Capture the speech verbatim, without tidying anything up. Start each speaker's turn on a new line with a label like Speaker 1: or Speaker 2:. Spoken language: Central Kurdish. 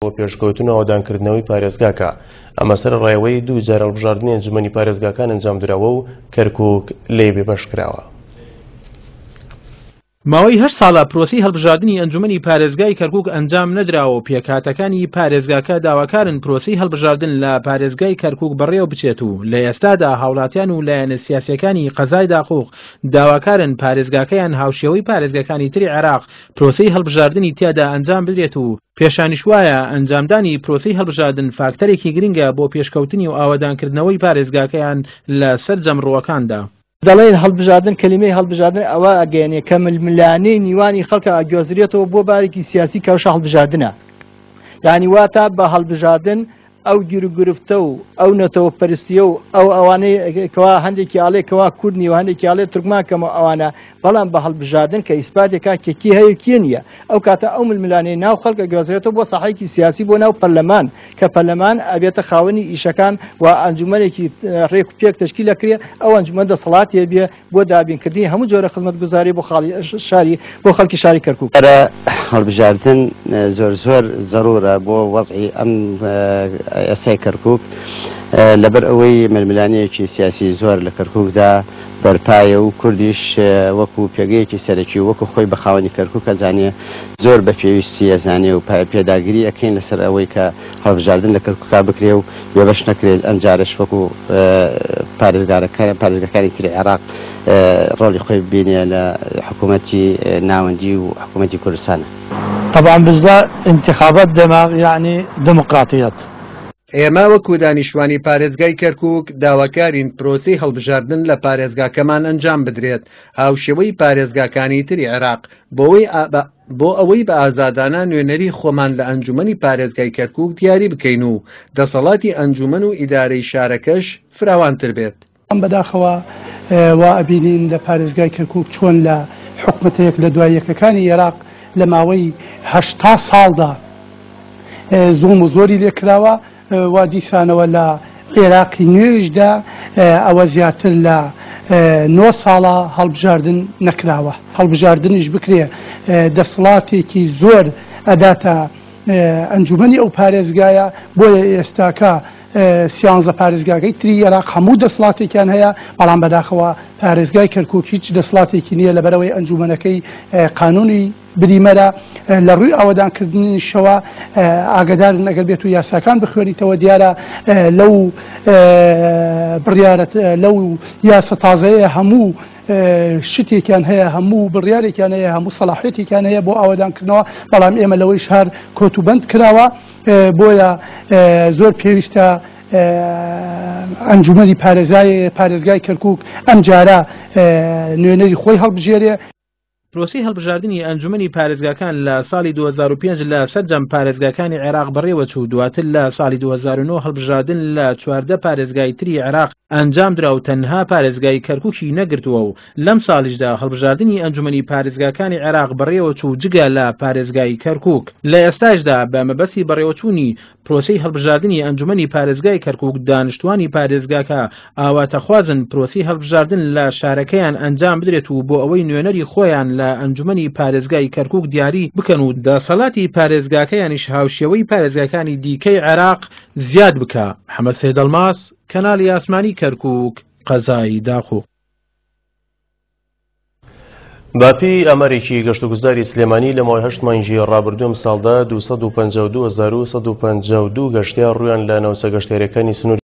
Speaker 1: بۆ پێشکەوتن و ئاوەدانکردنەوەی پارێزگاکە. ئەمە سەرەڕای ئەوەی دوو جار هەڵبژاردنی ئەنجومەنی پارێزگاکان ئەنجامدراوە و کەرکوک لێی بێبەش کراوە.
Speaker 2: ماوەی هەشت ساڵە پرۆسەی هەڵبژاردنی ئەنجومەنی پارێزگای کەرکوک ئەنجام نەدراوە و پێکهاتەکانی پارێزگاکە داواکارن پرۆسەی هەڵبژاردن لە پارێزگای کەرکوک بەڕێوە بچێت و لە ئێستادا هاوڵاتیان و لایەنە سیاسیەکانی قەزای داقوق داواکارن پارێزگاکەیان هاوشێوەی پارێزگاکانی تری عێراق پرۆسەی هەڵبژاردنی تیادا ئەنجام بدرێت و پێشانیش وایە ئەنجامدانی پرۆسەی هەڵبژاردن فاکتەرێکی گرنگە بۆ پێشکەوتنی و ئاوەدانکردنەوەی پارێزگاکەیان لە سەرجەم ڕووەکاندا.
Speaker 3: دەڵێن هەڵبژاردن، کەلیمەی هەڵبژاردن ئەوە ئەگەیەنێ کە ململانێی نیوانی خەڵکە ئەگوێزرێتەوە بۆ بارێکی سیاسی کەوشە هەڵبژاردنە. یعنی واتە بە هەڵبژاردن ئەو گیروگرفتە و ئەو نەتەوە پەرستیە و ئەو ئەوانەی کەوا هەندێکی ئاڵێ کەوا کورد نیوە، هەندێکی ئاڵێ تورکمان کەمە ئەوانە، بەڵام بە هەڵبژاردن کە ئیسپاتێکا کێکی هەیە کێ نییە، ئەو کاتە ئەو ململانەی ناو خەڵکە گوێزرێتەوە بۆ ساحەیەکی سیاسی بۆ ناو پەرلەمان کە پەرلەمان ئەبێتە خاوەنی ئیشەکان و ئەنجومەنێکی ڕێک و پێک تەشکیل ئەکرێ، ئەو ئەنجومەن دەسەڵاتیە بێ بۆ دابینکردنی هەموو جۆرە خزمەتگوزاری بۆ خاڵی شاری بۆ خەڵکی شاری کەرکوک.
Speaker 4: هەڵبژاردن زۆر زۆر زەرورە بۆ وەزعی ئەم ئێستای کەرکوک، لەبەر ئەوەی ململانەیەکی سیاسی زۆر لە کەرکوکدا بەرپایە و کوردیش وەکو پێگەیەکی سەرەکی وەکو خۆی بە خاوەنی کەرکوک ئەزانێ زۆر بە پێویستی ئەزانێ و پێداگیری ئەکەین لەسەر ئەوەی کە هەڵبژاردن لە کەرکوکا بکرێ و بێبەش نەکرێت. ئەمجارەش وەکو پارێزگاکانی تری عێراق ڕۆڵی خۆی ببینێ لە حکوومەتی ناوەندی و حکوومەتی کوردستانە.
Speaker 5: طبعا bizde انتخابات demek yani demokratiyet.
Speaker 6: ئێمە وەکو دانیشتوانی پارێزگای کەرکوک داواکارین پرۆسەی هەڵبژاردن لە پارێزگاکەمان ئەنجام بدرێت هاوشێوەی پارێزگاکانی تری عێراق بۆ ئەوەی بە ئازادانە نوێنەری خۆمان لە ئەنجومەنی پارێزگای کەرکوک دیاری بکەین و دەسەڵاتی ئەنجومەن و ئیدارەی شارەکەش فراوانتر بێت.
Speaker 5: بەداخەوە وا ئەبینین لە پارێزگای کەرکوک چۆن لە حکومەتەیەک لە دوای یەکەکانی عێراق لە ماوەی هەشتا ساڵدا زوڵم و زۆری لێکراوە و دیسانەوە لە عێراقی نوێژدا ئەوە زیاتر لە نۆ ساڵە هەڵبژاردن نەکراوە. هەڵبژاردنیش بکرێ دەسەڵاتێکی زۆر ئەداتە ئەنجومەنی ئەو پارێزگایە، بۆیە ئێستاکە سیانزە پارێزگاکەی تری عێراق هەموو دەسەڵاتێکیان هەیە، بەڵام بەداخەوە پارێزگای کەرکوک هیچ دەسەڵاتێکی نییە لەبەرەوەی ئەنجومەنەکەی قانونی بریمەرە. لە ڕووی ئاوەدانکردنیشەوە ئاگدارن ئەگەر بێت و یاساکان بخوێنیتەوە دیارە لەو بڕیارەت لەو یاسە تازەیە هەموو شتێکیان هەیە، هەموو بڕیارێکیان هەیە، هەموو سەلاحیەتێکیان هەیە بۆ ئاوەدانکردنەوە، بەڵام ئێمە لەوەی شار کۆتوبەند کراوە. بۆیە زۆر پێویستە ئەنجومەنی پارێزگای کەرکوک ئەمجارە نوێنەری خۆی هەڵبژێرێ.
Speaker 2: پرۆسەی هەڵبژاردنی ئەنجومەنی پارێزگاکان لە ساڵی دوو هەزار و پێنج لە سەرجەم پارێزگاکانی عێراق بەڕێوەچوو، دواتر لە ساڵی دوو هەزار و نۆ هەڵبژاردن لە چواردە پارێزگای تری عێراق ئەنجامدرا و تەنها پارێزگای کەرکوکی نەگرتووە و لەم ساڵیشدا هەڵبژاردنی ئەنجومەنی پارێزگاکانی عێراق بەڕێوەچوو جگە لە پارێزگای کەرکوک. لە ئێستاشدا بە مەبەستی بەڕێوەچوونی پرۆسەی هەڵبژاردنی ئەنجومەنی پارێزگای کەرکوک دانیشتوانی پارێزگاکە ئاواتەخوازن پرۆسەی هەڵبژاردن لە شارەکەیان ئەنجام بدرێت و بۆ ئەوەی نوێنەری خۆیان لە ئەنجومەنی پارێزگای کەرکوک دیاری بکەن و دەسەڵاتی پارێزگاکەیانیش هاوشێوەی پارێزگاکانی دیکەی عێراق زیاد بکە. محەممەد سەیدەڵماس، کەناڵی ئاسمانی کەرکوک، قەزای داقوق.
Speaker 1: باپی ئامارێکی گەشتوگوزاری سلێمانی لە ماوەی هەشت مانگی ڕابردوو ئەمساڵدا دوو سەد و پەنجا و دوو هەزار و سەد و پەنجا و دوو گەشتیار ڕوویان لە ناوچە گەشتیارەکانی سنوور